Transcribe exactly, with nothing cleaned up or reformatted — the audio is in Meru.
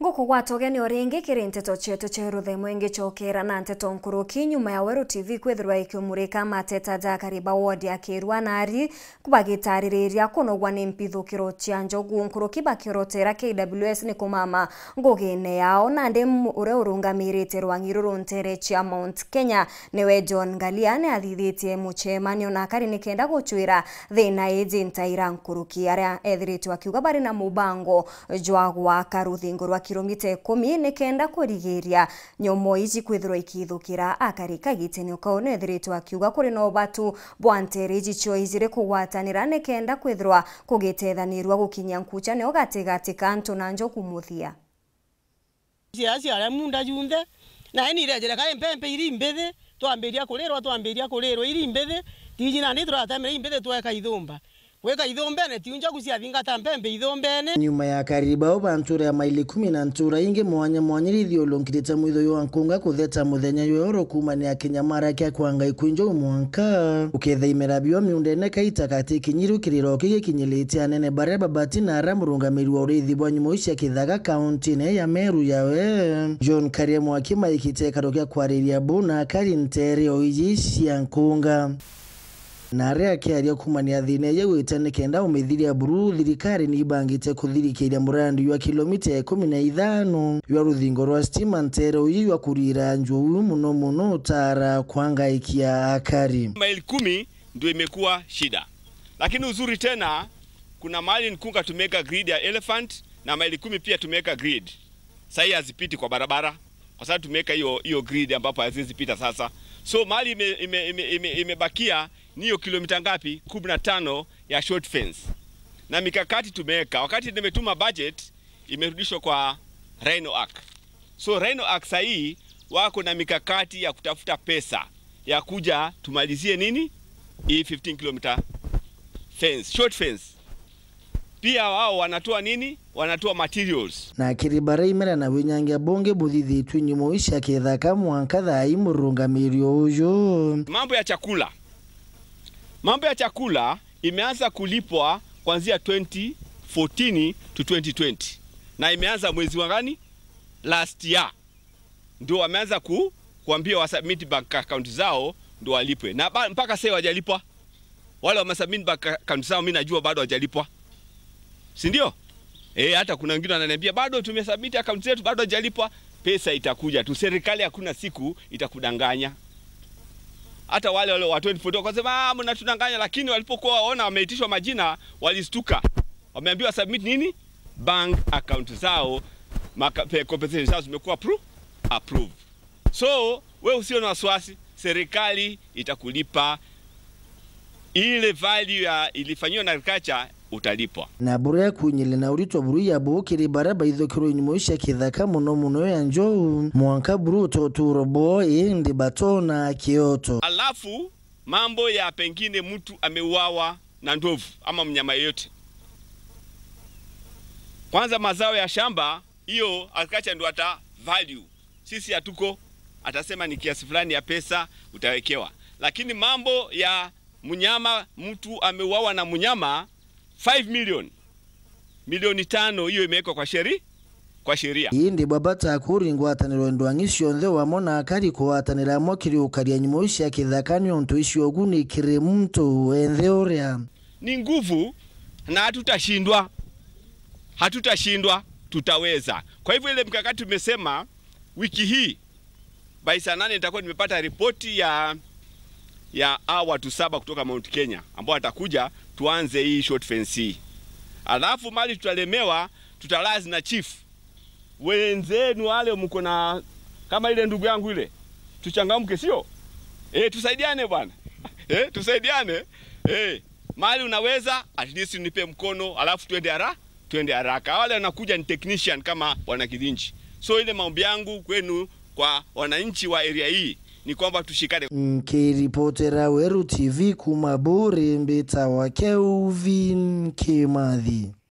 Ngukugwata ugeni o ringi kiri nteto cietu cia ruthemo ingicokera na nteto nkuruki nyuma ya Weru T V kwithirwa ikiumurika mateta ja akari ba ward ya Kirua na Ari bagitaririria kunogwa ni mpithukiro cia njogu nkuruki bakiorotera K W S ni kumama ngugine yao. Nandi m-, uria urungamirite rwang'i ruru ntere cia Mount Kenya niwe John Ngalia ni athithitie mucemanio na akari nikenda gucwira thina iji ntaira nkuruki. Aria ethiritwe akiuga bari na mubango jwa gwaka ruthingo rwa kilomita ikumi nikenda kurigiria nyomo iji kwithirwa ikithukira akari. Kagitene o kau ni ethiritwe akiuga kuri na ubatu bwa ntere iji cio ijiri kugwatanira nikenda kwithirwa kugitethanirua gukinyia nkucha nio gatigati ka antu na njogu muthia. Ciaya ciaria munda junthe, nae ni irejere kai mpempe iri mbithi, twambiria kurirwa, twambiria kurirwa iri mbithi, tiji nandi turatemera imbithi tweka ithumba. Gwika ithumbene, tiu njogu ciathingata mpempe ithumbene. Nyuma ya akari bao ba ntura ya Maili Kumi na ntura ingi mwanya mwanya iria ithiurunkirite mwitho jwa nkunga kutheta muthenya jwa oro kuumania kinyamara kia kwanga ikwinjo mwanka ukethaimira bio miundene kaita kati kinyiru kiriro kigikinyirite anene baria babati na ara murungamiri wa urithi bwa nyumo cia kithaka kauntine ya Meru yawe John Karia Mwaki maikite ikaro kia kwariria bu na akari ntere o iji cia nkunga. Na aria akiaria kuumania thina iu igwite nikenda umithiria buru, thirikari ni ibangite kuthirikiria murandi jwa kilomita ikumi na ithano jwa ruthingo rwa stima ntere uyu jwa kurira njugu muno muno utara kwangaikia akari. Maili kumi ndio imekuwa shida, lakini uzuri tena, kuna mahali Nkunga tumeweka grid ya elephant na Maili Kumi pia tumeweka grid. Sahii hazipiti kwa barabara kwa sababu tumeweka hiyo, hiyo grid ambapo haziwezi pita sasa. So mahali ime, ime, ime, ime, imebakia ni hiyo kilomita ngapi? Kumi na tano ya short fence. Na mikakati tumeweka. Wakati nimetuma budget, imerudishwa kwa Rhino Arc. So Rhino Arc sahii wako na mikakati ya kutafuta pesa ya kuja tumalizie nini? Hii fifteen kilometer fence, short fence. Pia wao wanatoa nini? Wanatoa materials. Na kiri baria imera na winyangia bungi buthithitue nyumo cia kithaka mwanka thaa ii murungamiri uyu. Mambo ya chakula. Mambo ya chakula imeanza kulipwa kuanzia twenty fourteen to twenty twenty. Na imeanza mwezi wa gani? Last year. Ndio wameanza ku-, kuambia wa submit bank account zao ndio walipwe. Na ba-, mpaka sasa wajalipwa. Wale wame submit bank account zao, mimi najua bado wajalipwa. Si ndio? Eh, hata kuna wengine wananiambia, "Bado tumesubmit account zetu, bado hajalipwa." Pesa itakuja tu. Serikali hakuna siku itakudanganya. Hata wale, wale wa twenty fourteen wakasema, "Ah, mnatudanganya," lakini walipokuwa waona wameitishwa majina, walistuka. Wameambiwa submit nini? Bank account zao, maka-, pe-, compensation zao zimekuwa appro-, approved. So, we usio na wasiwasi, serikali itakulipa ile value ya ilifanyiwa na agriculture, utalipwa. Na buria kunyile na uritwa buru ya buu kiri baria baithukirwe nyumo cia kithaka muno muno ya njou, mwanka buru utoturo boo indi batona kioto. Alafu, mambo ya pengine mtu ameuawa na ndovu ama mnyama yeyote. Kwanza, mazao ya shamba, hiyo agriculture ndo ata value. Sisi hatuko, atasema ni kiasi fulani ya pesa utawekewa. Lakini mambo ya mnyama, mtu ameuawa na mnyama, five million, milioni tano, hiyo imewekwa kwa sheri-, kwa sheria. Indi bwabata kuri ngwataniro ndwang'i cionthe wamo na akari kugwatanira amwe kiri ukaria nyumo cia kithaka, niuntu icio uguni kiri muntu wenthe uria. Ni nguvu na hatutashindwa. Hatutashindwa, tutaweza. Kwa hivyo ile mkakati tumesema wiki hii, by saa nane nitakuwa nimepata ripoti ya, ya hawa watu saba kutoka Mount Kenya ambao watakuja tuanze hii short fence hii. Alafu mali tutalemewa, tutalazi na chief. Wenzenu wale mko na, kama ile ndugu yangu ile, tuchangamke, sio? Eh, tusaidiane bwana. Eh, tusaidiane. Eh, mali unaweza, at least nipe mkono, alafu twende hara-, twende haraka. Wale wanakuja ni technician kama wana Kidinji. So ile maombi yangu kwenu kwa wananchi wa area hii ni kwamba tushikane. Nkiripotera Weru T V kuma Buri, mbitawa Kelvin Kimathi.